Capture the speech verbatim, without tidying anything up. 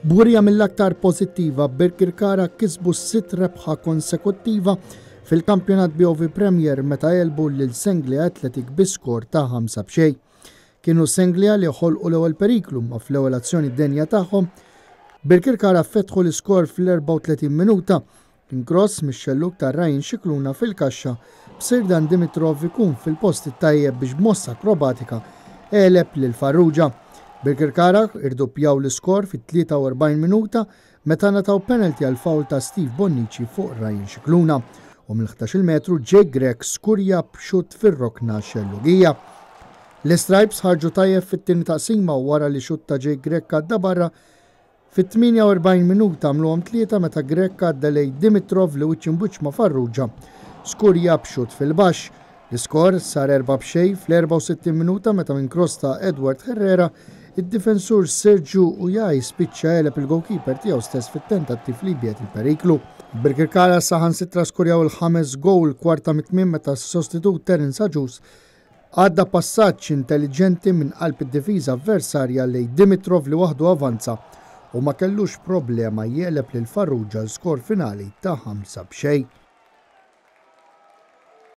B'wirja mill-aktar pożittiva, Birkirkara kisbu sitt rebħa konsekuttiva fil-kampjonat B O V Premier meta għelbu lil Senglea Athletic bi skor ta' ħamsa b'xejn. Kienu Senglea li ħolqu l-ewwel periklu, ma fl-ewwel azzjoni denja tagħhom Birkirkara fetħu l-iskor fl-erbgħa u tletin minuta. Cross mix-xelluk ta' Ryan Xikluna fil-kaxxa, b'Sirdan Dimitrov ikun fil-post tajjeb biex b'mossa akrobatika għeleb lil Farrugia. Birkirkara irdoppjaw l-iskor fit-tlieta u erbgħin minuta meta ngħataw penalty għal foul ta' Steve Bonnici fuq Ryan Xikluna u mill-ħdax-il metru Jake Grech skurja b'xut fir-rokna xellugija. L-Stripes ħarġu tajjeb fit-tieni taqsima wara li xut ta' Jake Grech għadda barra. Fit-tmienja u erbgħin minuta għamluhom tlieta meta Grech għadda lejn Dimitrov li wiċċ imb'wiċċ ma' Farrugia skurja b'xut fil-baxx. L-iskor sar erba' b'xejn fl-erbgħa u sittin minuta meta minn cross ta' Edward Herrera, id-difensur Sergio Ujaj spiċċa għeleb il-goalkeeper tiegħu stess fit-tentattiv li jbiegħed il-periklu. Birkirkara saħansitra skurjaw il-ħames goal kwarta mit-tmiem meta s-sostitut Terence Agius għadda passaġġ intelligenti minn qalb id-difiża avversarja lejn Dimitrov li waħdu avanza u ma kellux problema jegħleb lil Farrugia, l-skor finali ta' ħamsa b'xejn.